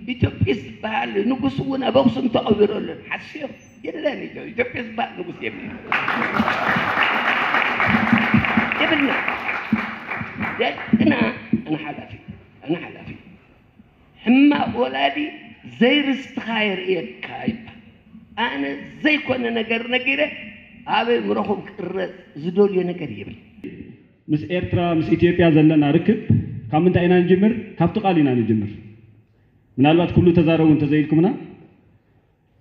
ኢትዮጵስ ዝበሃል ንጉስ እውን ኣብ ኣኽሱም ተቐቢሩ ኣሎ። ሓስዮ የለን። ኢትዮ- ኢትዮጵስ ዝበሃል ንጉስ የብልን። የብልና። ደቅና ኣነ ሓላፊ፣ ኣነ ሓላፊ። ሕማቕ ወላዲ ዘይርስትኻ የርእየካ ይባል። ኣነ ዘይኮነ ነገር ነጊረ ኣብ ኣእምሮኹም ክቕረጽ ዝደልዮ ነገር የብልን። ምስ ኤርትራ፣ ምስ ኢትዮጵያ ዘለና ርክብ ካብ ምንታይ ኢና ንጅምር? ካብቲ ቃል ኢና ንጅምር። ምናልባት ኩሉ ተዛረቡ እንተዘይልኩምና፣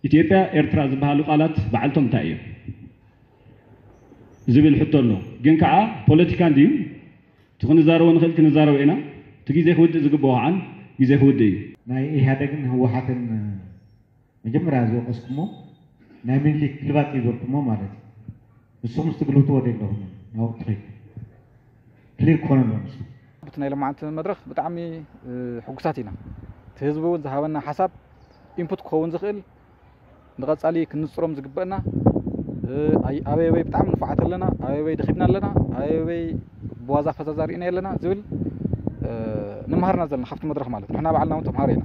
ኢትዮጵያ፣ ኤርትራ ዝበሃሉ ቃላት በዓልቶም እንታይ እዮም ዝብል ሕቶ ኣሎ። ግን ከዓ ፖለቲካ እንድዩ፣ እቲ ክንዛረቦ ንኽእል ክንዛረቦ ኢና። እቲ ግዜ ክውድእ ዝግብኦ ከዓ ግዜ ክውድእ እዩ። ናይ ኢህኣደግን ህወሓትን መጀመርያ ዝወቀስኩሞ ናይ ምኒልክ ግልባጥ እዩ ዝበልኩሞ ማለት እዩ። ንስኹም ትግልብጥዎ ዶ ኣለኹም? ናብኡ ትኸይድ ክሊር ክኾነሎም። ኣብቲ ናይ ሎማዓንቲ መድረኽ ብጣዕሚ ሕጉሳት ኢና። እቲ ህዝቢ እውን ዝሃበና ሓሳብ ኢንፑት ክኸውን ዝኽእል ንቐፃሊ ክንፅሮም ዝግበእና፣ ኣበይ ኣበይ ብጣዕሚ ንፉዓት ኣለና፣ ኣበይ ኣበይ ደኺምና ኣለና፣ ኣበይ ኣበይ ብዋዛ ፈዛዛ ርኢና ኣለና ዝብል ንምሃርና ዘለና ካብቲ መድረኽ ማለት ንሕና ባዕልና እውን ተምሃሮ ኢና።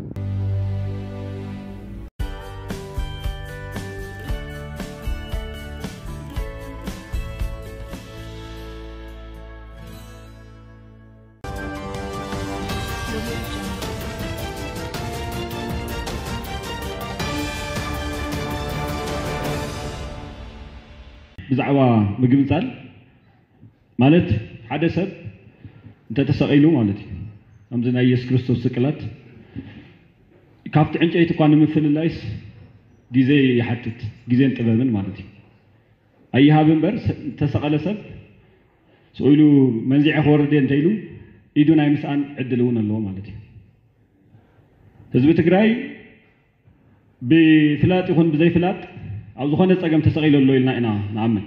ብዛዕባ ምግንፃል ማለት ሓደ ሰብ እንተተሰቒሉ ማለት እዩ። ከምዚ ናይ ኢየሱስ ክርስቶስ ስቅላት ካብቲ ዕንጨይቲ እኳ ንምፍልላይስ ግዜ ይሓትት፣ ግዜን ጥበብን ማለት እዩ። ኣይሃብ እምበር ዝተሰቐለ ሰብ ስቕ ኢሉ መንዚዐ ክወርድ እየ እንተኢሉ ኢዱ ናይ ምስኣን ዕድል እውን ኣለዎ ማለት እዩ። ህዝቢ ትግራይ ብፍላጥ ይኹን ብዘይፍላጥ ኣብ ዝኾነ ፀገም ተሰቒሉ ኣሎ ኢልና ኢና ንኣምን።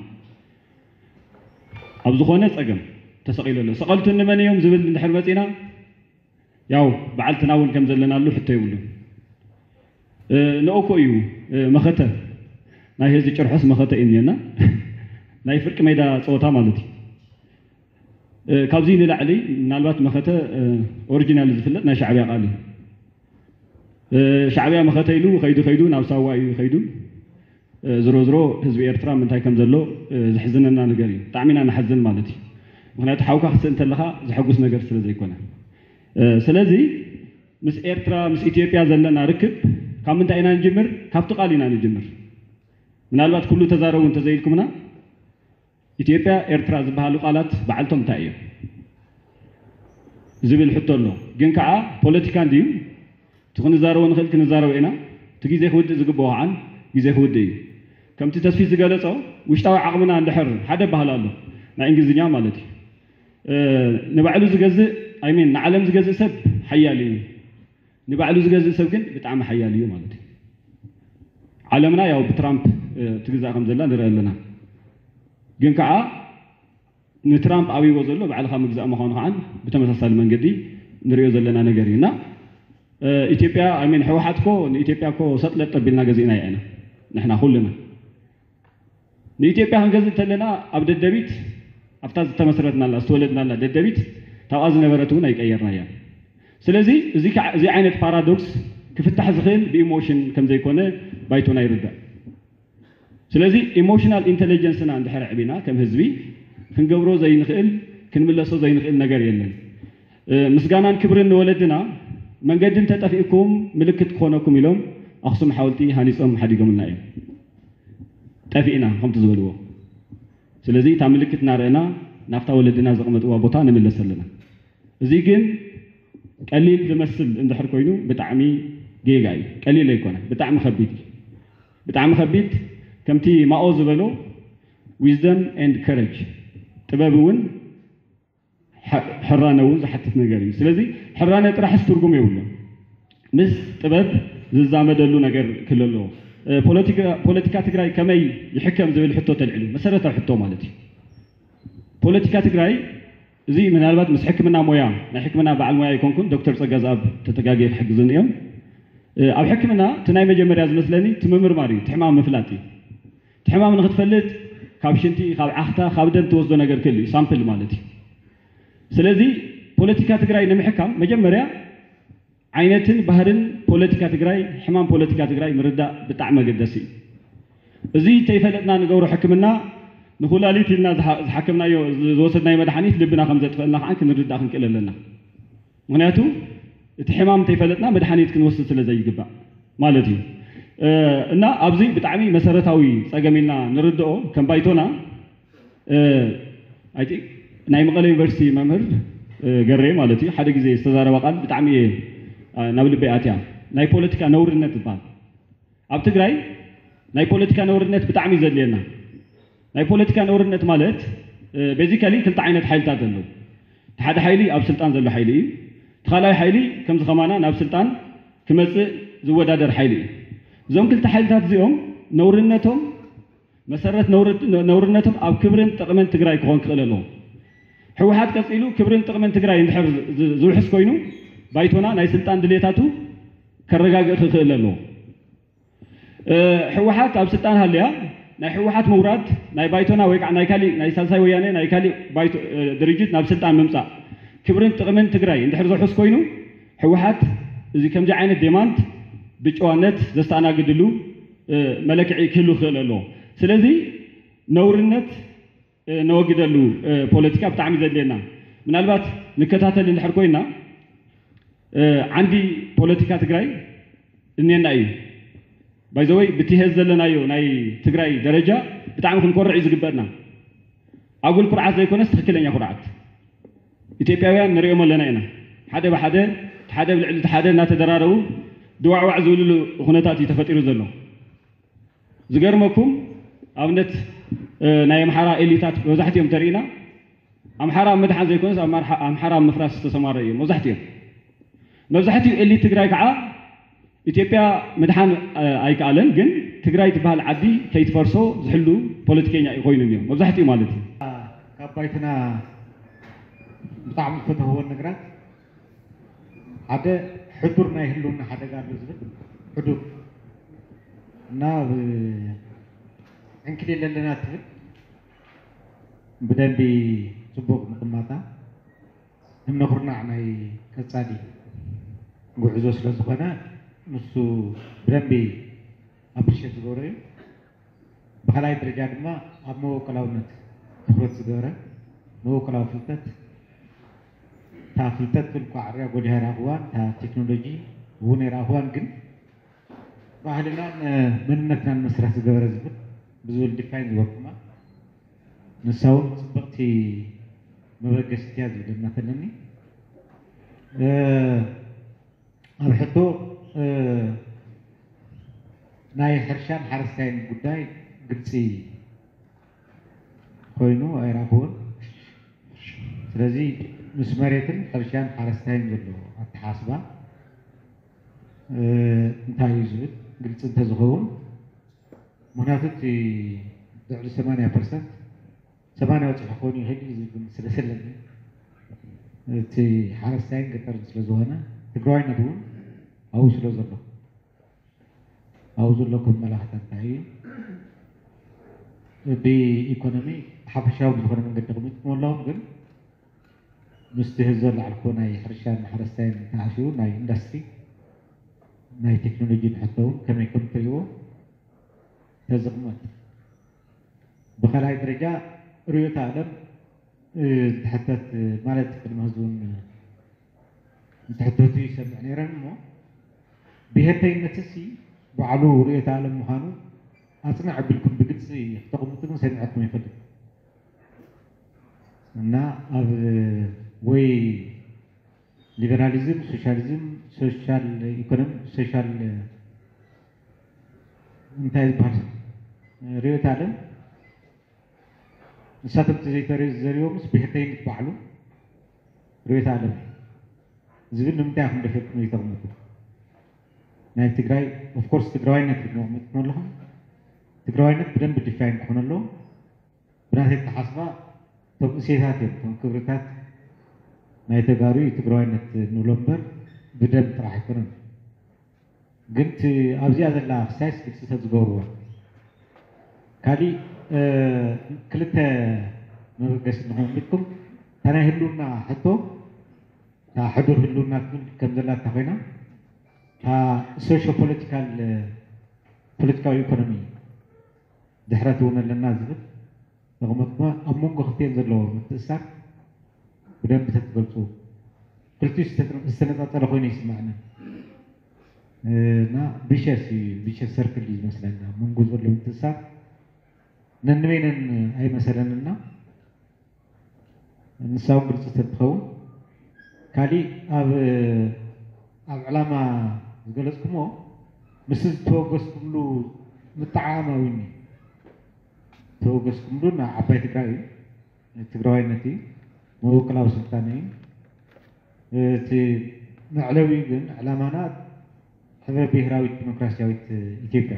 ኣብ ዝኾነ ፀገም ተሰቒሉ ኣሎ። ሰቐልቱ እንመን እዮም ዝብል እንድሕር መፂና ያው በዓልትና እውን ከም ዘለናሉ ሕቶ የብሉን። ንኦኮ እዩ መኸተ ናይ ህዝቢ ጭርሖስ መኸተ እዩ እኒአና ናይ ፍርቂ ሜዳ ፀወታ ማለት እዩ። ካብዚ ንላዕሊ ምናልባት መኸተ ኦሪጂናል ዝፍለጥ ናይ ሻዕብያ ቃል እዩ። ሻዕብያ መኸተ ኢሉ ከይዱ ከይዱ ናብ ሳዋ እዩ ከይዱ። ዝሮ ዝሮ ህዝቢ ኤርትራ ምንታይ ከም ዘሎ ዘሕዝነና ነገር እዩ። ብጣዕሚ ኢና ንሓዝን ማለት እዩ። ምክንያቱ ሓውካ ክትስእ እንተለካ ዘሐጉስ ነገር ስለ ዘይኮነ። ስለዚ ምስ ኤርትራ ምስ ኢትዮጵያ ዘለና ርክብ ካብ ምንታይ ኢና ንጅምር? ካብቲ ቃል ኢና ንጅምር። ምናልባት ኩሉ ተዛረቡ እንተዘይልኩምና ኢትዮጵያ፣ ኤርትራ ዝበሃሉ ቃላት በዓልቶም እንታይ እዮም ዝብል ሕቶ ኣሎ። ግን ከዓ ፖለቲካ እንድዩ፣ እቲ ክንዛረቦ ንኽእል ክንዛረቦ ኢና። እቲ ግዜ ክውድእ ዝግብኦ ከዓ ግዜ ክውድእ እዩ። ከምቲ ተስፊት ዝገለጾ ውሽጣዊ ዓቕምና እንድሕር ሓደ ባህል ኣሎ ናይ እንግሊዝኛ ማለት እዩ። ንባዕሉ ዝገዝእ ኣይሚን ንዓለም ዝገዝእ ሰብ ሓያል እዩ። ንባዕሉ ዝገዝእ ሰብ ግን ብጣዕሚ ሓያል እዩ ማለት እዩ። ዓለምና ያው ብትራምፕ ትግዛእ ከም ዘላ ንርኢ ኣለና። ግን ከዓ ንትራምፕ ኣብይዎ ዘሎ ባዕልኻ ምግዛእ ምዃኑ ከዓ ብተመሳሳሊ መንገዲ ንሪኦ ዘለና ነገር እዩ እና ኢትዮጵያ ኣይ ሚን ህወሓት ኮ ንኢትዮጵያ ኮ ሰጥለጥ ኣቢልና ገዚእና ኢና ንሕና ኩልና ንኢትዮጵያ ክንገዝእ እንተለና ኣብ ደደቢት ኣብታ ዝተመስረትናላ ዝተወለድናላ ደደቢት ታብኣ ዝነበረት እውን ኣይቀየርናያ። ስለዚ እዚ ከዓ እዚ ዓይነት ፓራዶክስ ክፍታሕ ዝኽእል ብኢሞሽን ከም ዘይኮነ ባይቶና ይርዳእ። ስለዚ ኢሞሽናል ኢንተለጀንስና እንድሕር ኣዕቢና ከም ህዝቢ ክንገብሮ ዘይንኽእል ክንምለሶ ዘይንኽእል ነገር የለን። ምስጋናን ክብርን ንወለድና መንገዲ እንተጠፊእኩም ምልክት ክኾነኩም ኢሎም ኣኽሱም ሓወልቲ ሃኒፆም ሓዲጎምልና እዮም። ጠፊእና ከምቲ ዝበልዎ። ስለዚ እታ ምልክት እናረእና ናብታ ወለድና ዘቐመጥዋ ቦታ ንምለስ ኣለና። እዚ ግን ቀሊል ዝመስል እንድሕር ኮይኑ ብጣዕሚ ጌጋ እዩ። ቀሊል ኣይኮነ፣ ብጣዕሚ ከቢድ እዩ። ብጣዕሚ ከቢድ ከምቲ ማኦ ዝበሎ wisdom and courage ጥበብ እውን ሕራነ እውን ዝሓትት ነገር እዩ። ስለዚ ሕራነ ጥራሕስ ትርጉም የብሉን። ምስ ጥበብ ዝዛመደሉ ነገር ክህሉ ኣለዎ። ፖለቲካ ትግራይ ከመይ ይሕከም ዝብል ሕቶ ተልዒሉ፣ መሰረታዊ ሕቶ ማለት እዩ። ፖለቲካ ትግራይ እዚ ምናልባት ምስ ሕክምና ሞያ ናይ ሕክምና በዓል ሞያ ኣይኮንኩን፣ ዶክተር ፀጋዝኣብ ተተጋግየ ክሕግዙን እዮም። ኣብ ሕክምና እቲ ናይ መጀመርያ ዝመስለኒ እቲ ምምርማር እዩ፣ እቲ ሕማም ምፍላጥ እዩ። እቲ ሕማም ንክትፈልጥ ካብ ሽንቲ፣ ካብ ዓኽታ፣ ካብ ደም ትወስዶ ነገር ክህሉ እዩ፣ ሳምፕል ማለት እዩ። ስለዚ ፖለቲካ ትግራይ ንምሕካም መጀመርያ ዓይነትን ባህርን ፖለቲካ ትግራይ፣ ሕማም ፖለቲካ ትግራይ ምርዳእ ብጣዕሚ ኣገዳሲ እዩ። እዚ እንተይፈለጥና ንገብሮ ሕክምና ንኩላሊት ኢልና ዝሓ- ዝሓከምናዮ ዝወሰድናዮ መድሓኒት ልብና ከም ዘጥፈልና ከዓ ክንርዳእ ክንክእል ኣለና። ምክንያቱ እቲ ሕማም እንተይፈለጥና መድሓኒት ክንወስድ ስለ ዘይግባእ ማለት እዩ። እና ኣብዚ ብጣዕሚ መሰረታዊ ፀገም ኢልና ንርድኦ ከም ባይቶና ናይ መቐለ ዩኒቨርሲቲ መምህር ገሬ ማለት እዩ ሓደ ግዜ ዝተዛረባ ቃል ብጣዕሚ እየ ናብ ልበይ ኣትያ። ናይ ፖለቲካ ነውርነት ዝበሃል ኣብ ትግራይ ናይ ፖለቲካ ነውርነት ብጣዕሚ እዩ ዘድልየና። ናይ ፖለቲካ ነውርነት ማለት basically ክልተ ዓይነት ሓይልታት ዘለዉ። እቲ ሓደ ሓይሊ ኣብ ስልጣን ዘሎ ሓይሊ እዩ። እቲ ካልኣይ ሓይሊ ከምዚ ከማና ናብ ስልጣን ክመፅእ ዝወዳደር ሓይሊ እዩ። እዞም ክልተ ሓይልታት እዚኦም ነውርነቶም መሰረት ነውርነቶም ኣብ ክብርን ጥቕምን ትግራይ ክኾን ክኽእል ኣለዎ። ህወሓት ቀፂሉ ክብርን ጥቕምን ትግራይ እንድሕር ዝውሕስ ኮይኑ ባይቶና ናይ ስልጣን ድሌታቱ ከረጋግእ ክኽእል ኣለዎ። ህወሓት ኣብ ስልጣን ሃልያ ናይ ህወሓት ምውራድ ናይ ባይቶና ወይ ከዓ ናይ ካሊእ ናይ ሳልሳይ ወያነ ናይ ካሊእ ድርጅት ናብ ስልጣን ምምፃእ ክብርን ጥቕምን ትግራይ እንድሕር ዘውሕስ ኮይኑ ህወሓት እዚ ከምዚ ዓይነት demand ብጨዋነት ዘስተኣናግድሉ መለክዒ ክህሉ ክኽእል ኣለዎ። ስለዚ ነውርነት ነወግደሉ ፖለቲካ ብጣዕሚ ዘድልየና ምናልባት ንከታተል እንድሕር ኮይና ዓንዲ ፖለቲካ ትግራይ እኔና እዩ። By the way ብቲ ሄዝ ዘለናዮ ናይ ትግራይ ደረጃ ብጣዕሚ ክንኮርዕ እዩ ዝግበእና። ኣጉል ኩርዓት ዘይኮነስ ትኽክለኛ ኩርዓት ኢትዮጵያውያን ንሪኦም ኣለና ኢና። ሓደ ብሓደ ሓደ ብልዕሊ ሓደ እናተደራረቡ ድዋዕዋዕ ዝብልሉ ኩነታት እዩ ተፈጢሩ ዘሎ። ዝገርመኩም ኣብነት ናይ ኣምሓራ ኤሊታት መብዛሕትኦም ተሪኢና ኣምሓራ ኣብ ምድሓን ዘይኮነስ ኣምሓራ ኣብ ምፍራስ ዝተሰማረ እዮም መብዛሕትኦም። መብዛሕትኡ ኤሊት ትግራይ ከዓ ኢትዮጵያ ምድሓን ኣይከኣለን፣ ግን ትግራይ ትበሃል ዓዲ ከይትፈርሶ ዝሕሉ ፖለቲከኛ እዩ ኮይኑ እኒኦ መብዛሕትኡ ማለት እዩ። ካብ ባይትና ብጣዕሚ ዝፈተኽዎ ነገራት ሓደ ሕዱር ናይ ህልውና ሓደጋ ኣሎ ዝብል ሕዱር እና ዕንክሊል ኣለና ትብል ብደንቢ ፅቡቕ ምቕማጣ እምነ ኩርናዕ ናይ ቀፃሊ ጉዕዞ ስለ ዝኾነ ንሱ ብደንቢ ኣፕሪሼት ዝገብሮ እዩ። ብኻልኣይ ደረጃ ድማ ኣብ መበቆላውነት ትኩረት ዝገበረ መበቆላዊ ፍልጠት እታ ፍልጠት ግን ኳዕርያ ጎሊሃ ይረኣኽዋን እታ ቴክኖሎጂ እውን ይረኣኽዋን ግን ባህልናን መንነትናን መሰረት ዝገበረ ዝብል ብዝብል ዲፋይን ዝበልኩማ ንሳ እውን ፅብቕቲ መበገሲት እያ ዝብል እምነት ኣለኒ። ኣብ ሕቶ ናይ ሕርሻን ሓረስታይን ጉዳይ ግልፂ ኮይኑ ኣይረኣኽዎን። ስለዚ ምስ መሬትን ሕርሻን ሓረስታይን ዘሎ ኣተሓስባ እንታይ እዩ ዝብል ግልፂ እንተዝኸውን፣ ምክንያቱ እቲ ልዕሊ ሰማንያ ፐርሰንት ሰማንያ በፂሑ ክኸውን ይኽእል እዩ ዝብል ግምት ስለ ዘለኒ እቲ ሓረስታይን ገጠርን ስለ ዝኾነ ትግራዋይነት እውን ኣብኡ ስለ ዘሎ ኣብኡ ዘሎ ከመላኽታ እንታይ እዩ ብኢኮኖሚ ሓፈሻዊ ብዝኾነ መንገዲ ኣቕሚጥኩም ኣለኹም ግን ምስቲ ህዝቢ ዘላዕልኮ ናይ ሕርሻን ሓረስታይን ተኣሲሩ ናይ ኢንዳስትሪ ናይ ቴክኖሎጂ ንሕቶ እውን ከመይ ከም ትሪእዎ ተዝቕመጥ ብኻልኣይ ደረጃ ርዮተ ኣለም እንትሕተት ማለት ቅድሚ ህዝቡን እንትሕተቱ ይሰምዕ ነይረን እሞ ብሄርተይነት ሲ ባዕሉ ርዮተ ኣለም ምዃኑ ኣፅንዕ ኣቢልኩም ብግልፂ ክተቕምጡ ግን ሰሚዐኩም ይፈልጥ እና ኣብ ወይ ሊበራሊዝም፣ ሶሻሊዝም፣ ሶሻል ኢኮኖሚ፣ ሶሻል እንታይ ዝበሃል ርዮት ኣለም ንሳቶም እቲ ዘይተሪዮ ዝዘሪቦምስ ብሕተይነት ባዕሉ ርዮት ኣለም ዝብል ንምንታይ ኢኹም ደፊርኩም ዘይተቕምጡ? ናይ ትግራይ ኦፍኮርስ ትግራዋይነት ኢኹም ኣቕሚጥኩም ኣለኹም። ትግራዋይነት ብደንብ ዲፋይን ክኾን ኣለዎ። ብናተይ ኣተሓስባ እቶም እሴታት እዮም እቶም ክብርታት ናይ ተጋሩ እዩ ትግራዋይነት ንብሎ እምበር ብደም ጥራሕ ኣይኮነን። ግን ኣብዚኣ ዘላ ክሳይስ ግልፂ ተዝገብርዎ ካሊእ ክልተ መበገሲ ንኾን ኢልኩም እታ ናይ ህልውና ሕቶ እታ ሕዱር ህልውና ትብል ከም ዘላታ ኮይና እታ ሶሾ ፖለቲካል፣ ፖለቲካዊ ኢኮኖሚ ድሕረት እውን ኣለና ዝብል ነቕመጥኩማ። ኣብ መንጎ ክልቲኤን ዘለዎ ምትእሳር ብደንብ ተትገልፁ። ክልቲኡ ዝተነ- ዝተነፃፀለ ኮይኑ ይስማዕና። እና ቪሸስ እዩ፣ ቪሸስ ሰርክል እዩ ዝመስለና። ኣብ መንጎ ዘሎ ምትእሳር ነንበይነን ኣይመሰለንና። ንሳ እውን ግልፂ ተትኸውን። ካሊእ ኣብ ኣብ ዕላማ ዝገለፅኩሞ ምስ ዝተወገዝኩምሉ ምጠዓዓም ኣዊኒ ተወገዝኩምሉ ናብ ዓባይ ትግራይ እዩ። ትግራዋይነት እዩ፣ መበቆላዊ ስልጣነ እዩ። እቲ መዕለቢኡ ግን ዕላማና ሕብረ ብሄራዊት ዲሞክራሲያዊት ኢትዮጵያ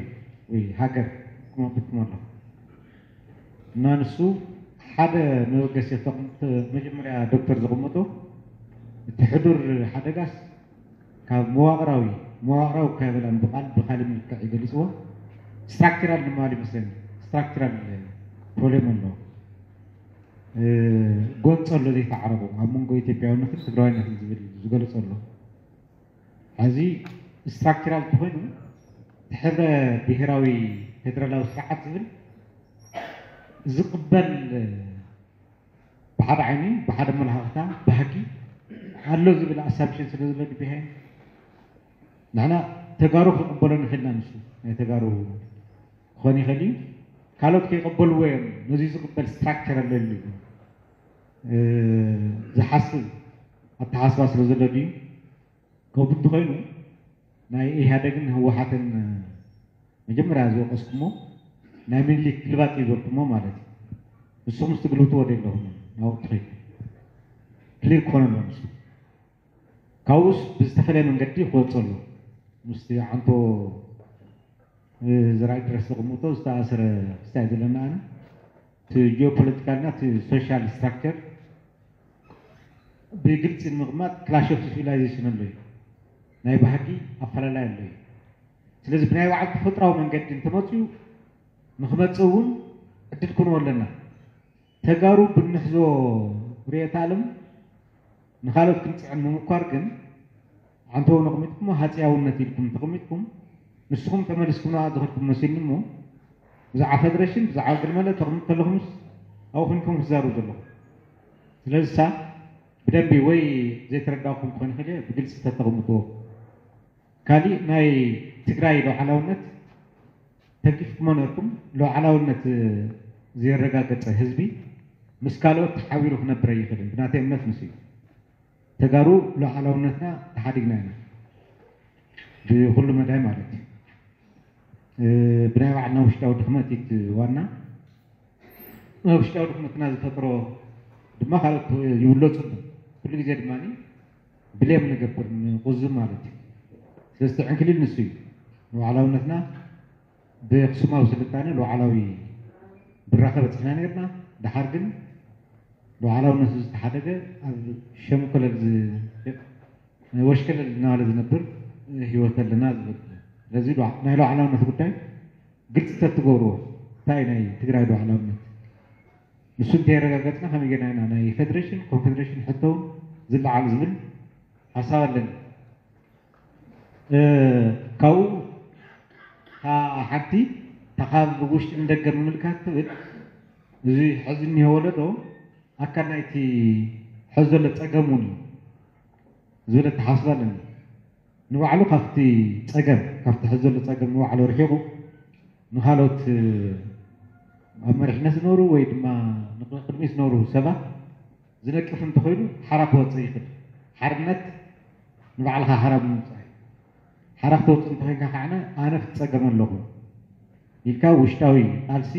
ወይ ሃገር ክመብትኩም ኣለኹ። እና ንሱ ሓደ መበገሲ ተቕምጥ መጀመርያ ዶክተር ዘቐመጦ እቲ ሕዱር ሓደጋስ ካብ መዋቕራዊ፣ መዋቕራዊ እኳ የበላን ብቓል ብካሊእ መልክዕ ይገልፅዎ፣ ስትራክቸራል ንምባል ይመስለኒ። ስትራክቸራል ፕሮብሌም ኣሎ። ጎንፂ ኣሎ ዘይተዓረቑ ኣብ መንጎ ኢትዮጵያውነትን ትግራዋይነትን ዝብል ዝገልፅ ኣሎ። ሕዚ ስትራክቸራል እንተኾይኑ እቲ ሕብረ ብሄራዊ ፌደራላዊ ስርዓት ዝብል ዝቕበል ብሓደ ዓይኒ ብሓደ መላኽታ ባህጊ ኣሎ ዝብል ኣሳምሽን ስለ ዘሎ ድቢሃይ ንሕና ተጋሩ ክቕበሎ ንኽእልና ንሱ ናይ ተጋሩ ክኾን ይኽእል እዩ። ካልኦት ከይቐበልዎ እዮም። ነዚ ዝቕበል ስትራክቸር ኣለሉ ዝሓስብ ኣተሓስባ ስለ ዘሎ ድዩ? ከምኡ እንተኾይኑ ናይ ኢህኣደግን ህወሓትን መጀመርያ ዝወቀስኩሞ ናይ ምኒልክ ግልባጥ ይበልኩሞ ማለት እዩ። ንስኹም ምስ ትግልብጥዎ ዶ የለኹም ናብኡ ትኸይዱ ክሊር ክኾነ ኣሎ ንሱ ካብኡስ ብዝተፈለየ መንገዲ ክወፅእ ኣሎ። ምስቲ ዓንቶ ዘርኣይ ድረስ ዘቐምጦ ዝተኣሰረ ክስታይ ዘለና ኣነ እቲ ጂኦፖለቲካልና እቲ ሶሻል ስትራክቸር ብግልፂ ንምቕማጥ ክላሽ ኦፍ ሲቪላይዜሽን ኣሎ እዩ። ናይ ባህጊ ኣፈላላይ ኣሎ እዩ። ስለዚ ብናይ ባዕሉ ተፈጥራዊ መንገዲ እንተመፅኡ ንክመፅእ እውን ዕድል ክንዎ ኣለና። ተጋሩ ብንሕዞ ርየት ኣለም ንካልኦት ክንፅዕን ምምኳር ግን ዓንተው ነቕሚጥኩሞ ሃፅያውነት ኢልኩም ተቐሚጥኩም ንስኹም ተመሊስኩም ናብኣ ዝኸድኩም መሲልኒ እሞ ብዛዕባ ፈደረሽን ብዛዕባ ገለመለ ተቕምጡ ከለኹምስ ኣብኡ ኮይንኩም ትዛረቡ ዘለኹም። ስለዚ ሳ ብደንቢ ወይ ዘይተረዳእኩም ክኾን ይኽእል እየ ብግልፂ ተተቐምጥዎ። ካሊእ ናይ ትግራይ ሉዓላውነት ተንኪፍኩሞ ነርኩም። ሉዓላውነት ዘየረጋገፀ ህዝቢ ምስ ካልኦት ተሓቢሩ ክነብር ኣይኽእልን። ብናተይ እምነት ምስ እዩ ተጋሩ ሉዓላውነትና ተሓዲግና ኢና ብኩሉ መዳይ ማለት እዩ። ብናይ ባዕልና ውሽጣዊ ድኽመት እዩ ዋና። ውሽጣዊ ድኽመትና ዝፈጥሮ ድማ ካልኦት ይውለፁ። ኩሉ ግዜ ድማ ብሌም ንገብር ንቁዝም ማለት እዩ። ስለዚ ዕንክሊል ንሱ እዩ ንባዕላውነትና ብክሱማዊ ስልጣነ ሉዓላዊ ብራኸ በፂሕና ነርና። ድሓር ግን ሉዓላውነቱ ዝተሓደገ ኣብ ሸምኮለል ወሽከለል እናባለ ዝነብር ህይወት ኣለና ዝብል። ስለዚ ናይ ሉዓላውነት ጉዳይ ግልፂ ተትገብርዎ እንታይ ናይ ትግራይ ሉዓላውነት ንሱ እንተየረጋገፅና ከመይ ጌርና ኢና ናይ ፌደሬሽን ኮንፌደሬሽን ሕቶ እውን ዝለዓል ዝብል ሓሳብ ኣለኒ። ካብኡ ሓንቲ ካብ ውሽጢ ንደገ ምምልካት ትብል እዚ ሕዚ እኒሆ ወለዶ ኣካል ናይቲ ሕዚ ዘሎ ፀገም እውን እዩ ዝብል ኣተሓስባ ኣለኒ። ንባዕሉ ካብቲ ፀገም ካብቲ ሕዚ ዘሎ ፀገም ንባዕሉ ርሒቑ ንካልኦት ኣብ መሪሕነት ዝነብሩ ወይ ድማ ንቅድሚት ዝነብሩ ሰባት ዝነቅፍ እንተኾይኑ ሓራ ክወፅእ ይኽእል። ሓርነት ንባዕልኻ ሓራ ብምውፃእ እዩ። ሓራ ክተውፅእ እንተኾይንካ ከዓነ ኣነ ክፀገም ኣለኹ ኢልካ ውሽጣዊ ቃልሲ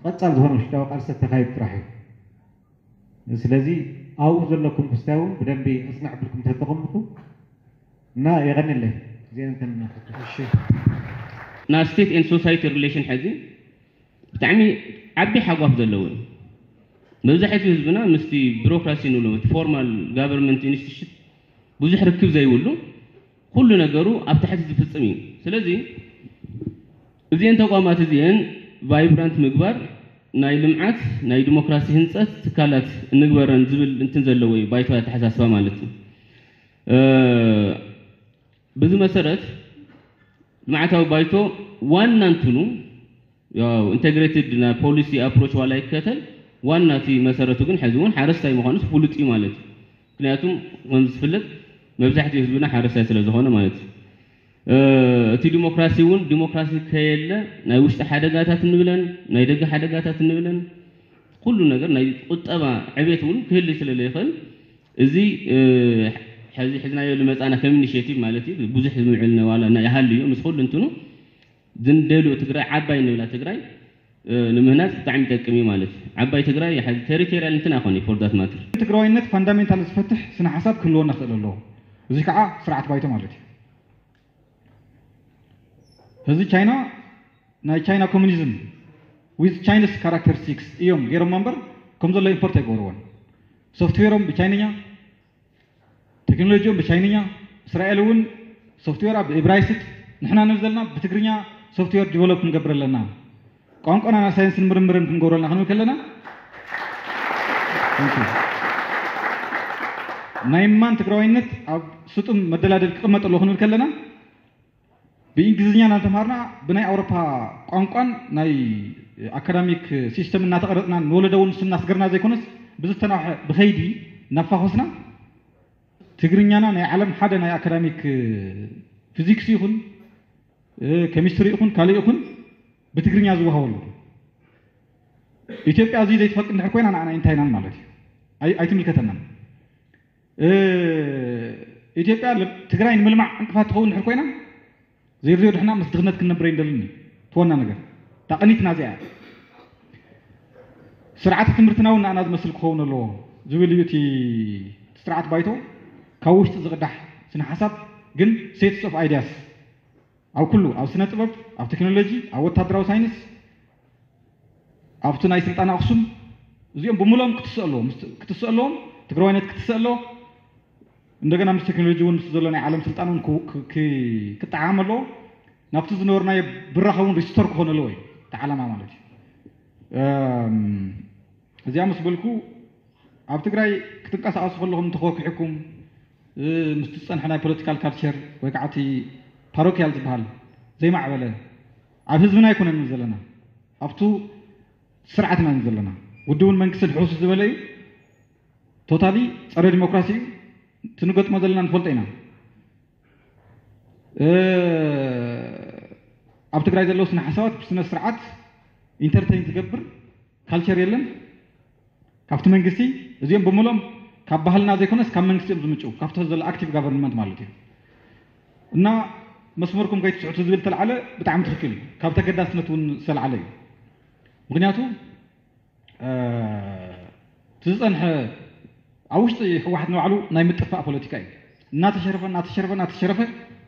ቀፃል ዝኾነ ውሽጣዊ ቃልሲ ተካይድ ጥራሕ እዩ። ስለዚ ኣብኡ ዘለኩም ክስታይ እውን ብደንቢ ኣፅንዕ ብልኩም ተተቐምጡ እና የቐንለይ ዜንተና ና state and society relation ሕዚ ብጣዕሚ ዓቢ ሓጓፍ ዘለዎ እዩ። መብዛሕትኡ ህዝብና ምስቲ ቢሮክራሲ ንብሎ እቲ ፎርማል ጋቨርንመንት ኢንስቲትዩሽን ብዙሕ ርክብ ዘይብሉ ኩሉ ነገሩ ኣብ ታሕቲ ዝፍፅም እዩ። ስለዚ እዚአን ተቋማት እዚአን ቫይብራንት ምግባር ናይ ልምዓት ናይ ዲሞክራሲ ህንፀት ትካላት እንግበረን ዝብል እንትን ዘለዎ እዩ ባይቶ ኣተሓሳስባ ማለት እዩ። በዚ መሰረት ልምዓታዊ ባይቶ ዋና እንትኑ ያው ኢንተግሬትድ ናይ ፖሊሲ ኣፕሮች ዋላ ይከተል፣ ዋና እቲ መሰረቱ ግን ሕዚ እውን ሓረስታይ ምዃኑስ ፍሉጥ እዩ ማለት እዩ። ምክንያቱም ከም ዝፍለጥ መብዛሕትኡ ህዝብና ሓረስታይ ስለ ዝኾነ ማለት እዩ። እቲ ዲሞክራሲ እውን ዲሞክራሲ ከየለ ናይ ውሽጢ ሓደጋታት እንብለን ናይ ደገ ሓደጋታት እንብለን ኩሉ ነገር ናይ ቁጠባ ዕቤት እውን ክህሊ ስለ ዘይኽእል እዚ ሕዚ ሕዝናዮ ዝመፃና ከም ኢኒሽቲቭ ማለት እዩ ብዙሕ ዝምዕል ዋላ ይሃሉ እዩ ምስ ኩሉ እንትኑ ዝንደልዮ ትግራይ ዓባይ ንብላ ትግራይ ንምህናፅ ብጣዕሚ ይጠቅም እዩ ማለት እዩ። ዓባይ ትግራይ ቴሪቶሪያል እንትን ኣይኮነ ፎር ዳት ማተር። ትግራዋይነት ፋንዳሜንታል ዝፈትሕ ስነ ሓሳብ ክህልወና ክእል ኣለዎ። እዚ ከዓ ስርዓት ባይቶ ማለት እዩ። እዚ ቻይና ናይ ቻይና ኮሚኒዝም ዊዝ ቻይንስ ካራክተሪስቲክስ እዮም ገይሮም እምበር ከም ዘሎ ኢምፖርት ኣይገብርዎን። ሶፍትዌሮም ብቻይንኛ፣ ቴክኖሎጂኦም ብቻይንኛ፣ እስራኤል እውን ሶፍትዌራ ብእብራይስጥ፣ ንሕና ንብል ዘለና ብትግርኛ ሶፍትዌር ዲቨሎፕ ክንገብር ኣለና። ቋንቋና ናይ ሳይንስን ምርምርን ክንገብረልና ክንብል ከለና ናይ ማን ትግራዋይነት ኣብ ስጡም መደላደል ክቕመጥ ኣለዎ ክንብል ከለና ብእንግሊዝኛ እናተምሃርና ብናይ ኣውሮፓ ቋንቋን ናይ ኣካዳሚክ ሲስተም እናተቐረፅና ንወለዶ እውን ስም እናስገርና ዘይኮነስ ብዝተናውሐ ብኸይዲ እናፋኾስና ትግርኛና ናይ ዓለም ሓደ ናይ ኣካዳሚክ ፊዚክስ ይኹን ኬሚስትሪ ይኹን ካልእ ይኹን ብትግርኛ ዝወሃበሉ ኢትዮጵያ እዚ ዘይትፈቅድ እንድሕር ኮይና ንዓና እንታይ ኢናን ማለት እዩ። ኣይትምልከተናን። ኢትዮጵያ ትግራይ ንምልማዕ ዕንቅፋት ትኸውን እንድሕር ኮይና ዘይርዮ ድሕና ምስ ድኽነት ክንነብር ኣይንደልን እዩ። ትወና ነገር ታቐኒትና እዚኣ ስርዓት ትምህርትና እውን ንኣና ዝመስል ክኸውን ኣለዎ ዝብል እዩ እቲ ስርዓት ባይቶ። ካብ ውሽጢ ዝቕዳሕ ስነ ሓሳብ ግን ሴትስ ኦፍ ኣይዲያስ ኣብ ኩሉ ኣብ ስነ ጥበብ፣ ኣብ ቴክኖሎጂ፣ ኣብ ወታደራዊ ሳይንስ፣ ኣብቲ ናይ ስልጣን ኣክሱም እዚኦም ብምሎም ክትስእ ኣለዎም ክትስእ ኣለዎም ትግራዋይነት ክትስእ ኣለዎ። እንደገና ምስ ቴክኖሎጂ እውን ምስ ዘሎ ናይ ዓለም ስልጣን እውን ክጠዓም ኣለዎ። ናብቲ ዝነበርናዮ ብራኸ እውን ሪስቶር ክኾን ኣለዎ እዩ እቲ ዓላማ ማለት እዩ። እዚኣ ምስ በልኩ ኣብ ትግራይ ክትንቀሳቐሱ ከለኹም እንተኮኪሕኩም ምስቲ ዝፀንሐ ናይ ፖለቲካል ካልቸር ወይ ከዓ እቲ ፓሮኪያል ዝበሃል ዘይማዕበለ ኣብ ህዝብና ኣይኮነን ዘለና ኣብቱ ስርዓትና ዘለና ውድብን መንግስትን ሕውስ ዝበለ እዩ። ቶታሊ ፀረ ዲሞክራሲ እዩ። ትንገጥሞ ዘለና ንፈልጦ ኢና። ኣብ ትግራይ ዘለዉ ስነ ሓሳባት ብስነ ስርዓት ኢንተርቴን ዝገብር ካልቸር የለን። ካብቲ መንግስቲ እዚኦም ብምሎም ካብ ባህልና ዘይኮነስ ካብ መንግስቲ እዮም ዝምጭው ካብቲ ዘሎ ኣክቲቭ ጋቨርንመንት ማለት እዩ። እና መስመርኩም ከይትስሕቱ ዝብል ተልዓለ ብጣዕሚ ትኽክል እዩ። ካብ ተገዳስነት እውን ዝተልዓለ እዩ። ምክንያቱ ዝፀንሐ ኣብ ውሽጢ ህወሓት ንባዕሉ ናይ ምጥፋእ ፖለቲካ እዩ። እናተሸረፈ እናተሸረፈ እናተሸረፈ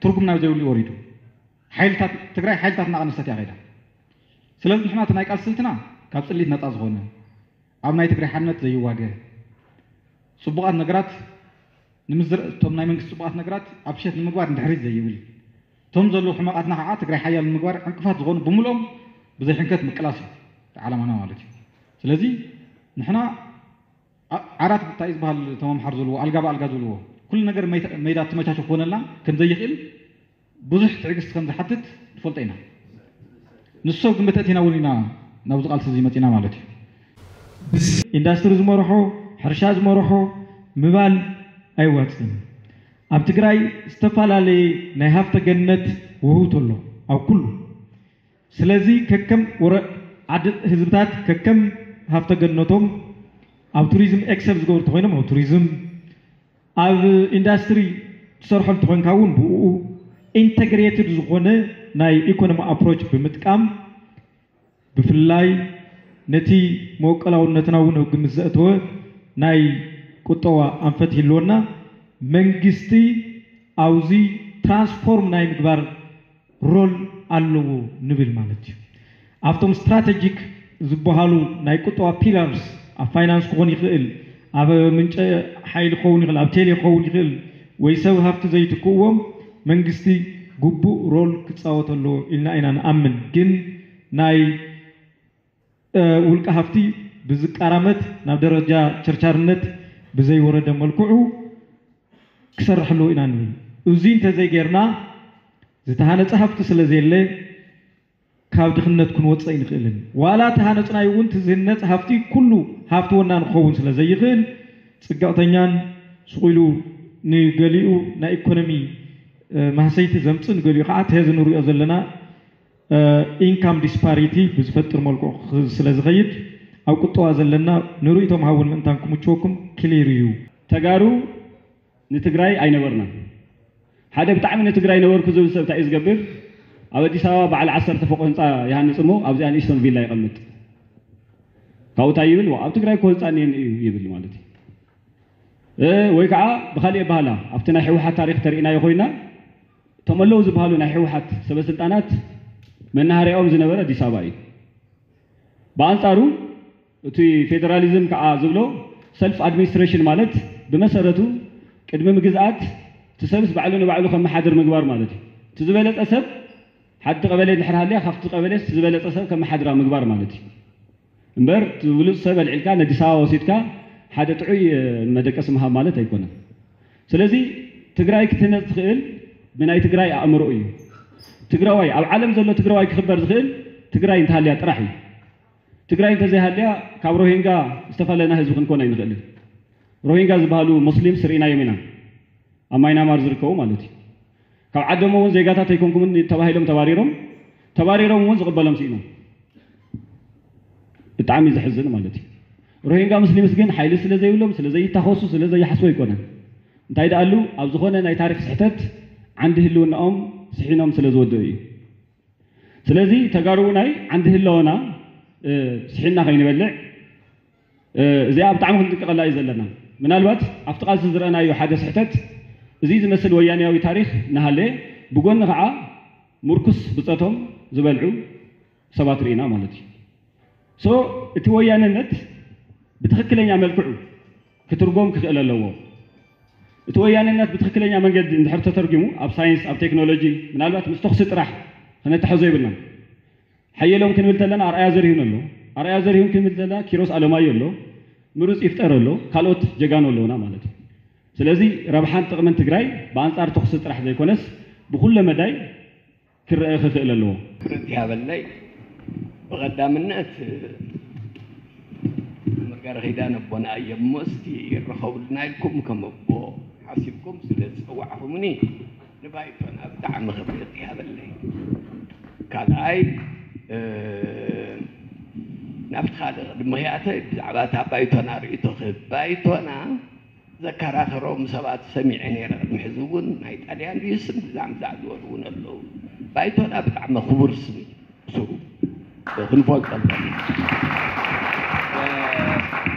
ትርጉም ናብ ዘይብሉ ወሪዱ ሓይልታት ትግራይ ሓይልታት እናቐነሰት እያ ከይዳ። ስለዚ ንሕና እቲ ናይ ቃል ስልትና ካብ ፅሊት ነፃ ዝኾነ ኣብ ናይ ትግራይ ሓድነት ዘይዋገ ፅቡቓት ነገራት ንምዝር እቶም ናይ መንግስቲ ፅቡቓት ነገራት ኣብ ሸት ንምግባር ንድሕሪት ዘይብል እቶም ዘለዉ ሕመቓትና ከዓ ትግራይ ሓያል ንምግባር ዕንቅፋት ዝኾኑ ብምልኦም ብዘይሕንከት ምቅላስ እዩ ዓላማና ማለት እዩ። ስለዚ ንሕና ዓራት እንታይ ዝበሃል ተመምሓር ዝብልዎ ኣልጋ ብኣልጋ ዝብልዎ ኩሉ ነገር ሜዳ ትመቻቸ ክኾነልና ከም ዘይኽእል ብዙሕ ትዕግስቲ ከም ዝሓትት ንፈልጦ ኢና። ንሱ ሰብ ግንበተት ኢና እውን ኢና ናብዚ ቃልሲ እዚ መፂና ማለት እዩ። ኢንዳስትሪ ዝመርሖ ሕርሻ ዝመርሖ ምባል ኣይዋፅን። ኣብ ትግራይ ዝተፈላለየ ናይ ሃፍተ ገነት ውህውት ኣሎ ኣብ ኩሉ። ስለዚ ከከም ወረ ዓዲ ህዝብታት ከከም ሃፍተ ገነቶም ኣብ ቱሪዝም ኤክሰል ዝገብሩ ተኮይኖም ኣብ ቱሪዝም ኣብ ኢንዳስትሪ ትሰርሖ እንተኾንካ እውን ብኡ ኢንተግሬትድ ዝኾነ ናይ ኢኮኖሚ ኣፕሮች ብምጥቃም ብፍላይ ነቲ መወቀላውነትና እውን ኣብ ግምት ዘእተወ ናይ ቁጠባ ኣንፈት ይህልወና መንግስቲ ኣብዚ ትራንስፎርም ናይ ምግባር ሮል ኣለዎ ንብል ማለት እዩ። ኣብቶም ስትራተጂክ ዝበሃሉ ናይ ቁጠባ ፒላርስ ኣብ ፋይናንስ ክኾን ይኽእል፣ ኣብ ምንጨ ሓይሊ ክኸውን ይኽእል፣ ኣብ ቴሌ ክኸውን ይኽእል ወይ ሰብ ሃፍቲ ዘይትክእዎም መንግስቲ ግቡእ ሮል ክፃወት ኣለዎ ኢልና ኢና ንኣምን። ግን ናይ ውልቀ ሃፍቲ ብዝቃራመት ናብ ደረጃ ቸርቻርነት ብዘይወረደ መልክዑ ክሰርሕ ኣለዎ ኢና ንብል። እዚ እንተዘይጌርና ዝተሃነፀ ሃፍቲ ስለ ዘየለ ካብ ድኽነት ክንወፅእ ኣይንኽእልን። ዋላ ተሃነፅናዮ እውን እቲ ዝህነፅ ሃፍቲ ኩሉ ሃፍቲ ወናኒ ክኸውን ስለ ዘይኽእል ፅግዕተኛን ስቕ ኢሉ ንገሊኡ ናይ ኢኮኖሚ ማህሰይቲ ዘምፅእ ንገሊኡ ከዓ እቲ ሕዚ ንሪኦ ዘለና ኢንካም ዲስፓሪቲ ብዝፈጥር መልክዑ ስለ ዝኸይድ ኣብ ቁጠባ ዘለና ንርእይቶም ሃውን ምእንታን ክምችወኩም ክሊር እዩ። ተጋሩ ንትግራይ ኣይነበርናን። ሓደ ብጣዕሚ ንትግራይ ነበርኩ ዝብል ሰብ እንታይ እዩ ዝገብር? ኣብ ኣዲስ ኣበባ በዓል ዓሰርተ ፎቕ ህንፃ ይሃንፅ እሞ ኣብዚኣ ንእሽቶን ቪላ ይቐምጥ። ካብኡ እንታይ ይብል? ኣብ ትግራይ እኮ ህንፃ እኒአኒ እዩ ይብል ማለት እዩ። ወይ ከዓ ብካሊእ ኣበሃላ ኣብቲ ናይ ህወሓት ታሪክ ተሪኢናዮ ኮይና እቶም ኣለዉ ዝበሃሉ ናይ ህወሓት ሰበስልጣናት መናሃርያኦም ዝነበረ ኣዲስ ኣበባ እዩ። ብኣንፃሩ እቲ ፌደራሊዝም ከዓ ዝብሎ ሰልፍ ኣድሚኒስትሬሽን ማለት ብመሰረቱ ቅድሚ ምግዝኣት እቲ ሰብስ ባዕሉ ንባዕሉ ከመሓድር ምግባር ማለት እዩ። እቲ ዝበለፀ ሰብ ሓንቲ ቀበሌ እንድሕር ሃልያ ካብቲ ቀበሌ ዝበለፀ ሰብ ከመሓድራ ምግባር ማለት እዩ። እምበር እቲ ብሉፅ ሰብ ኣልዒልካ ነዲስ ኣበባ ወሲድካ ሓደ ጥዑይ መደቀሲ ምሃብ ማለት ኣይኮነን። ስለዚ ትግራይ ክትህነፅ ትኽእል ብናይ ትግራይ ኣእምሮ እዩ። ትግራዋይ ኣብ ዓለም ዘሎ ትግራዋይ ክኽበር ዝኽእል ትግራይ እንተሃልያ ጥራሕ እዩ። ትግራይ እንተዘይሃልያ ካብ ሮሂንጋ ዝተፈለና ህዝቢ ክንኮን ኣይንኽእልን። ሮሂንጋ ዝበሃሉ ሙስሊምስ ርኢናዮም ኢና፣ ኣብ ማይናማር ዝርከቡ ማለት እዩ። ካብ ዓዶም እውን ዜጋታት ኣይኮንኩምን ተባሂሎም ተባሪሮም፣ ተባሪሮም እውን ዝቕበሎም ስኢኖም። ብጣዕሚ ዘሕዝን ማለት እዩ። ሮሂንጋ ሙስሊምስ ግን ሓይሊ ስለ ዘይብሎም ስለ ዘይታኸሱ ስለ ዘይሓስቡ ኣይኮነን። እንታይ ደኣሉ ኣብ ዝኾነ ናይ ታሪክ ስሕተት ዓንዲ ህልውናኦም ስሒኖም ስለ ዝወደኡ እዩ። ስለዚ ተጋሩ ናይ ዓንዲ ህለወና ስሒና ከይንበልዕ እዚኣ ብጣዕሚ ክንጥንቀቐላ እዩ ዘለና። ምናልባት ኣብቲ ቃልሲ ዝረኣናዮ ሓደ ስሕተት እዚ ዝመስል ወያንያዊ ታሪክ እናሃለየ ብጎኒ ከዓ ምርኩስ ብፀቶም ዝበልዑ ሰባት ርኢና ማለት እዩ። ሶ እቲ ወያነነት ብትኽክለኛ መልክዑ ክትርጎም ክኽእል ኣለዎ። እቲ ወያነነት ብትኽክለኛ መንገዲ እንድሕር ተተርጊሙ ኣብ ሳይንስ ኣብ ቴክኖሎጂ ምናልባት ምስ ተኹሲ ጥራሕ ክነተሐዞ ይብልና። ሓየሎም ክንብል ተለና ኣርኣያ ዘርሂን ኣሎ። ኣርኣያ ዘርሂን ክንብል ተለና ኪሮስ ኣለማዮ ኣሎ። ምሩፅ ይፍጠር ኣሎ። ካልኦት ጀጋኑ ኣለውና ማለት እዩ። ስለዚ ረብሓን ጥቕምን ትግራይ ብኣንፃር ተኹሲ ጥራሕ ዘይኮነስ ብኩለ መዳይ ክረአ ክኽእል ኣለዎ። ክብረት ይሃበለይ። ብቐዳምነት መርጋሪ ኪዳን ኣቦና እዮም እሞ እስቲ ይረኸቡልና ኢልኩም ከም ኣቦ ሓሲብኩም ስለ ዝፀዋዕኹምኒ ንባይቶና ብጣዕሚ ክብረት ይሃበለይ። ካልኣይ ናብቲ ካልእ ቅድሚ ክኣተ ብዛዕባ እታ ባይቶና ርእይቶ ክህብ ባይቶና ዘከራኸሮም ሰባት ሰሚዐ ነይረ። ቅድሚ ሕዚ እውን ናይ ጣልያን ድዩ ስም ብዛዕባ ዝበሉ እውን ኣለዉ። ባይቶና ብጣዕሚ ክቡር ስም እዩ። ስሩ ክንፈልጦ ኣለና።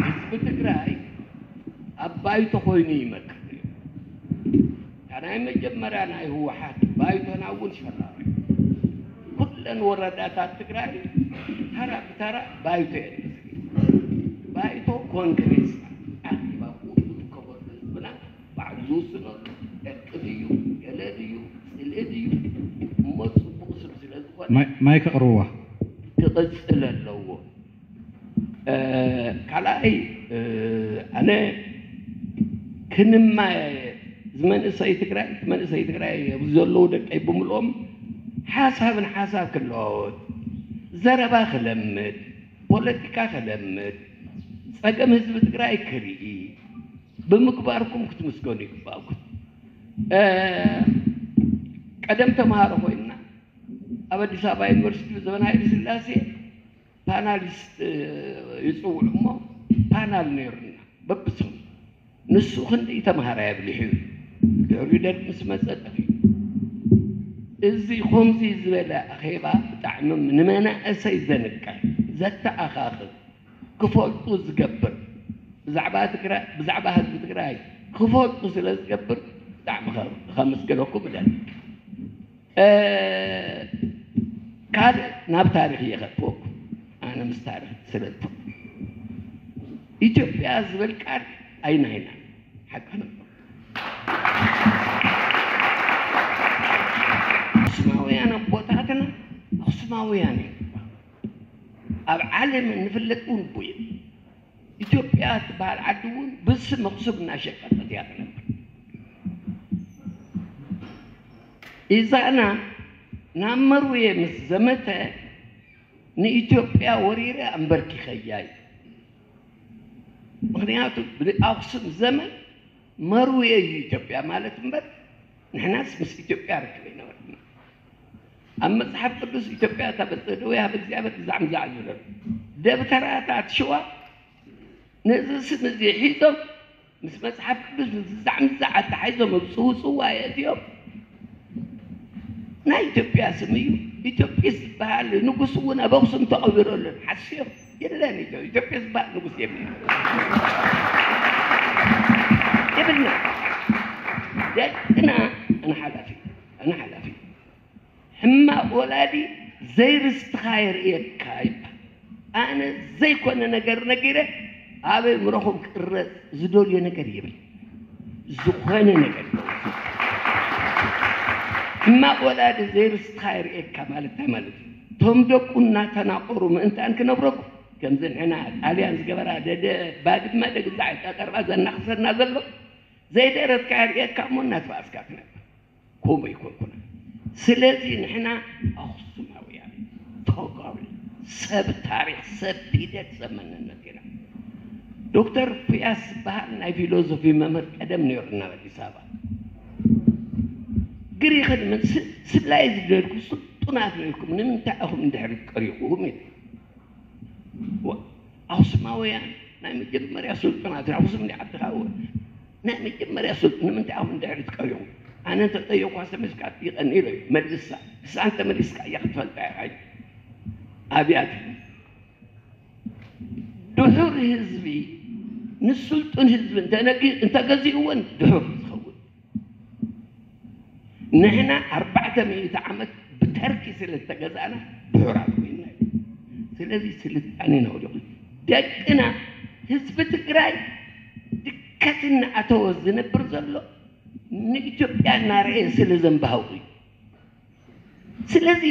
ህዝቢ ትግራይ ኣብ ባይቶ ኮይኑ ይመክር ነይሩ። እታ ናይ መጀመርያ ናይ ህወሓት ባይቶና እውን ሸራሪ ኩለን ወረዳታት ትግራይ ተራ ብተራ ባይቶ የለን። ባይቶ ኮንግሬስ ኣኪባ ብኡ ዝርከበሉ ህዝብና ባዕሉ ዝውስነሉ ዕርቂ ድዩ ገለ ድዩ ፅልኢ ድዩ እሞ ፅቡቕ ስም ስለ ዝኾነ ማይክ ኣቕርብዋ። ክቕፅል ኣለዎ። ካልኣይ ኣነ ክንማ ዝመንእሰይ ትግራይ መንእሰይ ትግራይ ኣብዚ ዘለዉ ደቀይ ብምልኦም ሓሳብ ንሓሳብ ክለዋወጥ ዘረባ ክለምድ ፖለቲካ ክለምድ ፀገም ህዝቢ ትግራይ ክርኢ ብምግባርኩም ክትምስገኑ ይግባእኩም። ቀደም ተምሃሮ ኮይንና ኣብ ኣዲስ ኣበባ ዩኒቨርሲቲ ዘበን ሃይለ ስላሴ ፓናሊስት ይፅውዑ እሞ ፓናል ነይሩና በብሰሙ ንሱ ክንደይ ተምሃራይ ኣብሊሑ እዩ። ድሕሪኡ ደርግ ምስ መፀ ጠፊኡ። እዚ ከምዚ ዝበለ ኣኼባ ብጣዕሚ ንመናእሰይ ዘንቅሕ ዘተኣኻኽብ ክፈልጡ ዝገብር ብዛዕባ ትግራይ ብዛዕባ ህዝቢ ትግራይ ክፈልጡ ስለ ዝገብር ብጣዕሚ ከመስግነኩም እደሊ። ካልእ ናብ ታሪክ እየ ከጥወኩም ኣነ ምስ ታሪክ ስለጥፍ ኢትዮጵያ ዝብል ቃል ኣይናይና ሓቂ ነበር ኣክሱማውያን ኣቦታትና ኣክሱማውያን እዮም ኣብ ዓለም እንፍለጥ እውን እቡ እዮም ኢትዮጵያ ትበሃል ዓዲ እውን ብስም ኣክሱም እናሸቀጠት እያ ትነብር ኢዛና ናብ መርውየ ምስ ዘመተ ንኢትዮጵያ ወሪረ ኣንበርኪኸያ እዩ። ምኽንያቱ ብኣኽሱም ዘመን መርውየ እዩ ኢትዮጵያ ማለት እምበር ንሕናስ ምስ ኢትዮጵያ ርክብ ኣይነበርና። ኣብ መጽሓፍ ቅዱስ ኢትዮጵያ ታበጽሕ እደዊሃ ሀበ እግዚኣብሔር ግዛዕ ምዛዕ ዝብለሉ ደብተራታት ሽዋ ነዚ ስም እዚ ሒዞም ምስ መጽሓፍ ቅዱስ ምዝዛዕ ምዝዛዕ ኣተሓሒዞም ኣብ ጽውጽዋ የእትዮም። ናይ ኢትዮጵያ ስም እዩ። ኢትዮጵስ ዝበሃል ንጉስ እውን ኣብ ኣኽሱም ተቐቢሩ ኣሎ። ሓስዮም የለን። ኢትዮ- ኢትዮጵያ ዝበሃል ንጉስ የብልና። የብልና። ደቅና ኣነ ሓላፊ ኣነ ሓላፊ ሕማቕ ወላዲ ዘይርስትኻ የርእየካ ይባል። ኣነ ዘይኮነ ነገር ነጊረ ኣብ ኣእምሮኹም ክቕረጽ ዝደልዮ ነገር የብል። ዝኾነ ነገር ሕማቕ ወላዲ ዘይርስትኻ የርእየካ ማለት እንታይ ማለት እዩ? እቶም ደቁ እናተናቆሩ ምእንታን ክነብረኩም ከምዚ ንሕና ጣልያን ዝገበራ ደደ ባድመ ደግዛዕ ጠጠርባ ዘናኽሰና ዘሎ ዘይደረትካ የርእየካ እሞ እናተባእስካ ትነብር። ከምኡ ኣይኮንኩን። ስለዚ ንሕና ኣኽሱማውያን ተጋሩ ሰብ ታሪኽ ሰብ ሂደት ሰብ መንነት ኢና። ዶክተር ፍያስ ዝበሃል ናይ ፊሎዞፊ መምህር ቀደም ነይሩና ኣብ ኣዲስ ኣበባ ግሪኽን ምን ስብላይ ዝደልኩ ስልጡናት ነይርኩም ንምንታይ ኢኹም እንድሕሪ ቀሪኹም ኢሉ ኣኽሱማውያን ናይ መጀመርያ ስልጡናት ኣኽሱም ዲ ዓዲ ሓወ ናይ መጀመርያ ስልጡ ንምንታይ ኢኹም ድሕሪት ቀሪኹም? ኣነ እንተጠየኳ ተመልስካ ይቐኒ ኢሎ እዩ መልሳ ንሳ እንተመሊስካ እያ ክትፈልጣ ኢኻ ኣብያት ድሑር ህዝቢ ንስልጡን ህዝቢ እንተገዚእዎን ድሑር ዝኸውን ንሕና ኣርባዕተ ሚእቲ ዓመት ብተርኪ ስለ ዝተገዛእና ድሑራት ኮይንና እዩ። ስለዚ ስልጣኔና ወዲቑ ደቅና ህዝቢ ትግራይ ድከት እናኣተወ ዝነብር ዘሎ ንኢትዮጵያ እናረኤ ስለ ዘንባሃው እዩ። ስለዚ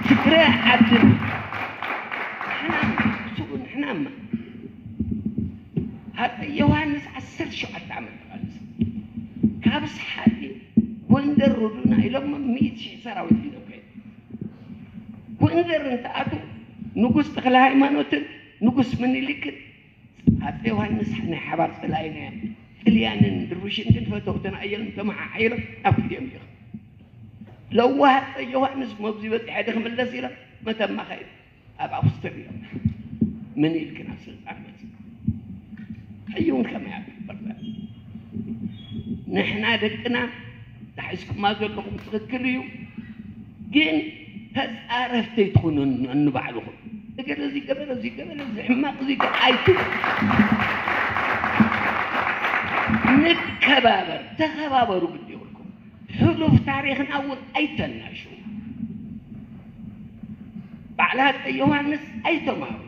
ትግራይ ዓድን ንሕናማ ሃፀይ ዮሃንስ ዓሰርተ ሸውዓተ ዓመት ተቓልሱ ካብ ሰሓቂ ጎንደር ሩዱና ኢሎሞ ሚእቲ ሺሕ ሰራዊት ሒዞም ከይዱ። ጎንደር እንትኣቱ ንጉስ ተክለ ሃይማኖትን ንጉስ ምኒልክን ኣፀ ዮሃንስ ናይ ሓባር ፀላኢና እዮም። ጥልያንን ድሩሽን ግን ፈተውትን ኣየሎም ተመሓሓይሎም ናብ ክልቲኦም ይኸ ለዋህ ኣፀ ዮሃንስ መብዚ በፂሐ ዲ ክምለስ ኢሎም መተማ ከይዱ ኣብ ኣውስትርያ ምኒልክ ናብ ስልጣን መፂ ሕጂ እውን ከመይ ኣብ ይግበር ንሕና ደቅና ተሒዝኩማ ዘለኹም ትኽክል እዩ ግን ተፃረፍቲ ኣይትኹኑ ንባዕልኹም እገለ እዚ ገበረ እዚ ገበረ እዚ ሕማቕ እዚ ኣይትኹኑ ንከባበር ተኸባበሩ ግዲ ይብልኩም ሕሉፍ ታሪኽና እውን ኣይተናሹ ባዕላ ኣፀ ዮሃንስ ኣይተምሃሩ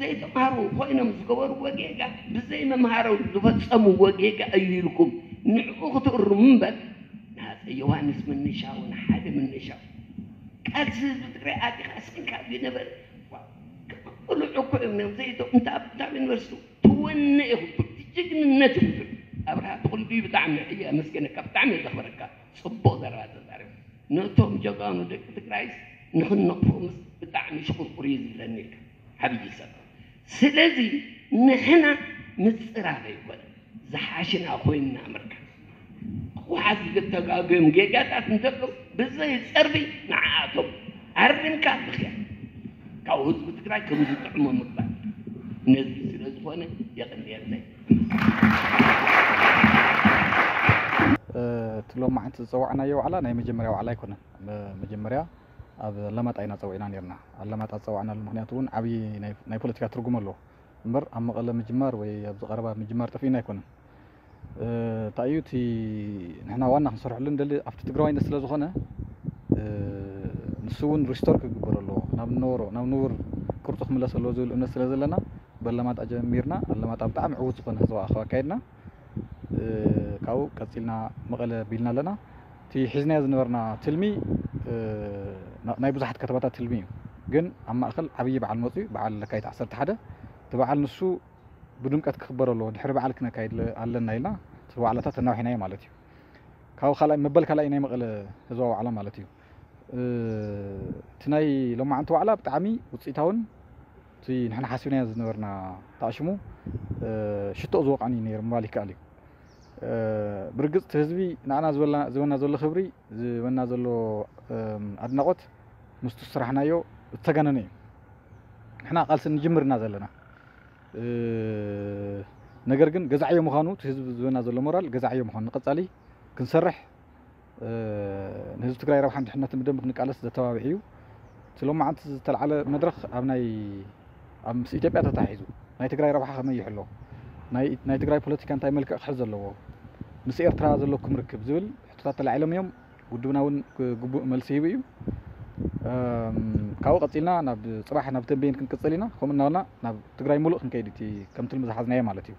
ዘይተምሃሩ ኮይኖም ዝገበርዎ ጌጋ ብዘይመምሃሮም ዝፈፀምዎ ጌጋ እዩ ኢልኩም ንዕኡ ክትእርሙ እምበር ንኣፀ ዮሃንስ ምንሻው ንሓደ ምንሻው ቃልሲ ህዝቢ ትግራይ ኣቲኻ ስንካ ዝነበረ ቅሉዕ እኮ እዮም ነም ዘይቶ እንታ ኣብ ዩኒቨርሲቲ ትወነ ኢኹም ትብል ጅግንነት ኢኹም ትብል ኣብርሃ ትኹል ብጣዕሚ እየ ኣመስገነካ ብጣዕሚ እየ ዘኽበረካ ፅቡቕ ዘረባ ተዛረብ ነቶም ጀጋኑ ደቂ ትግራይስ ንኽንነቕፎምስ ብጣዕሚ ሽቑርቁር እዩ ዝብለኒ ኢልካ ዓብዪ ሰብ ስለዚ ንሕና ምፅራር ኣይኮነ ዝሓሽና ኮይንና ምርካብ ህወሓት ዝተጋገዮም ጌጋታት እንተሎ ብዘይ ፀርቢ ንዓኣቶም ኣሪምካ ምኽያድ ካብ ህዝቢ ትግራይ ከም ዝጥዕሞ ምግባር ነዚ ስለ ዝኾነ የቐንየለይ እቲ ሎማዓንቲ ዝፀዋዕናዮ ዋዕላ ናይ መጀመርያ ዋዕላ ኣይኮነን። መጀመርያ ኣብ ኣለማጣ ኢና ፀዊዕና ነርና። ኣለማጣ ዝፀዋዕናሉ ምክንያት እውን ዓብዪ ናይ ፖለቲካ ትርጉም ኣለዎ። እምበር ኣብ መቐለ ምጅማር ወይ ኣብዚ ቀረባ ምጅማር ጠፊእና ኣይኮነን። እንታይ እዩ እቲ ንሕና ዋና ክንሰርሐሉ ንደሊ ኣብቲ ትግራዋይነት ስለ ዝኾነ ንሱ እውን ሪስቶር ክግበር ኣለዎ ናብ ነበሮ ናብ ንቡር ቅርፁ ክምለስ ኣለዎ ዝብል እምነት ስለ ዘለና በለማጣ ጀሚርና ኣለማጣ ብጣዕሚ ዕዉት ዝኾነ ህዝባዊ ኣኸባ ኣካይድና ካብኡ ቀፂልና መቐለ ቢልና ኣለና እቲ ሒዝናዮ ዝነበርና ትልሚ ናይ ብዙሓት ከተማታት ትልሚ እዩ ግን ኣብ ማእኸል ዓብዪ በዓል መፅኡ በዓል ለካይት ዓሰርተ ሓደ እቲ በዓል ንሱ ብድምቀት ክኽበር ኣለዎ ድሕሪ በዓል ክነካይድ ኣለና ኢልና እቲ ዋዕላታት ተናውሒናዮ ማለት እዩ ካብ ካልኣይ መበል ካልኣይ ናይ መቐለ ህዝባዊ ዋዕላ ማለት እዩ እቲ ናይ ሎማዓንቲ ዋዕላ ብጣዕሚ ውፅኢታውን እቲ ንሕና ሓሲብናዮ ዝነበርና ተኣሽሙ ሽቶ ዝወቃኒ ነይሩ ምባል ይከኣል እዩ። ብርግፅ እቲ ህዝቢ ንዓና ዝበና ዘሎ ክብሪ ዝበና ዘሎ ኣድናቆት ምስቱ ስራሕናዮ እተጋነነ እዩ። ንሕና ቃልሲ ንጅምር እና ዘለና ነገር ግን ገዛዕዮ ምዃኑ እቲ ህዝቢ ዝበና ዘሎ ሞራል ገዛዕዮ ምዃኑ ንቀፃሊ ክንሰርሕ ንህዝቢ ትግራይ ረብሓን ድሕነትን ብደንብ ክንቃለስ ዘተባብዕ እዩ። እቲ ሎማዓንቲ ዝተለዓለ መድረኽ ኣብ ናይ ኣብ ምስ ኢትዮጵያ ተታሒዙ ናይ ትግራይ ረብሓ ከመይ ይሕሎ፣ ናይ ትግራይ ፖለቲካ እንታይ መልክዕ ክሕዝ ዘለዎ፣ ምስ ኤርትራ ዘለኩም ርክብ ዝብል ሕቶታት ተላዒሎም እዮም። ውድብና እውን ግቡእ መልሲ ሂቡ እዩ። ካብኡ ቀፂልና ናብ ፅባሕ ናብ ተንቤን ክንቅፅል ኢና። ከምኡ እናበልና ናብ ትግራይ ሙሉእ ክንከይድ እቲ ከም ትልሚ ዝሓዝናዮ ማለት እዩ።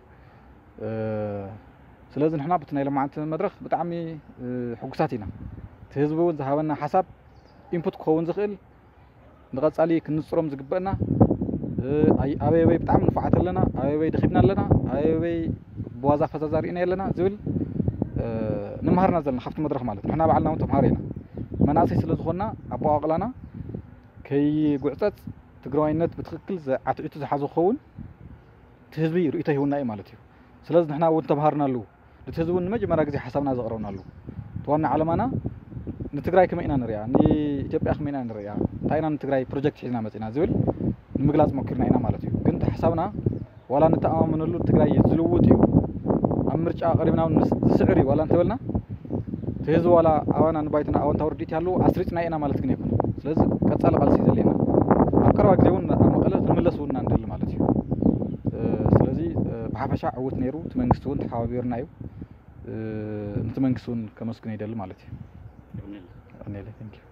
ስለዚ ንሕና ብቲ ናይ ሎማዓንቲ መድረኽ ብጣዕሚ ሕጉሳት ኢና። እቲ ህዝቢ እውን ዝሃበና ሓሳብ ኢንፑት ክኸውን ዝኽእል ንቐፃሊ ክንፅሮም ዝግበአና ኣበይ ኣበይ ብጣዕሚ ንፉዓት ኣለና፣ ኣበይ ኣበይ ደኺምና ኣለና፣ ኣበይ ኣበይ ብዋዛ ፈዛዛ ርኢና ኣለና ዝብል ንምሃርና ዘለና ካብቲ መድረኽ ማለት ንሕና ባዕልና እውን ተምሃሮ ኢና። መናእሰይ ስለ ዝኾንና ኣበቋቕላና ከይጉዕፀፅ ትግራዋይነት ብትኽክል ዓትዒቱ ዝሓዞ ክኸውን እቲ ህዝቢ ርእይቶ ሂቡና እዩ ማለት እዩ። ስለዚ ንሕና እውን ተምሃርናሉ። ነቲ ህዝቢ እውን ንመጀመርያ ግዜ ሓሳብና ዘቕረብናሉ እቲ ዋና ዓለማና ንትግራይ ከመይ ኢና ንሪኣ፣ ንኢትዮጵያ ከመይ ኢና ንሪኣ፣ እንታይ ኢና ንትግራይ ፕሮጀክት ሒዝና መፂና ዝብል ንምግላፅ ሞኪርና ኢና ማለት እዩ። ግን እቲ ሓሳብና ዋላ ንተኣማመነሉ ትግራይ ዝልውጥ እዩ። ኣብ ምርጫ ቀሪብና እውን ዝስዕር እዩ ዋላ እንተበልና እቲ ህዝቢ ዋላ ኣባና ንባይትና ኣወንታዊ ርድኢት ይሃልዎ ኣስሪፅና ኢና ማለት ግን ኣይኮነ። ስለዚ ቀፃሊ ቃልሲ እዩ ዘድልየና። ኣብ ቀረባ ግዜ እውን ኣብ መቐለ ክንምለስ እውን ኢና ንደሊ ማለት እዩ። ስለዚ ብሓፈሻ ዕውት ነይሩ። እቲ መንግስቲ እውን ተሓባቢሩና እዩ። ነቲ መንግስቲ እውን ከመስግኖ ይደሊ ማለት እዩ። የቐንየለይ። Thank you።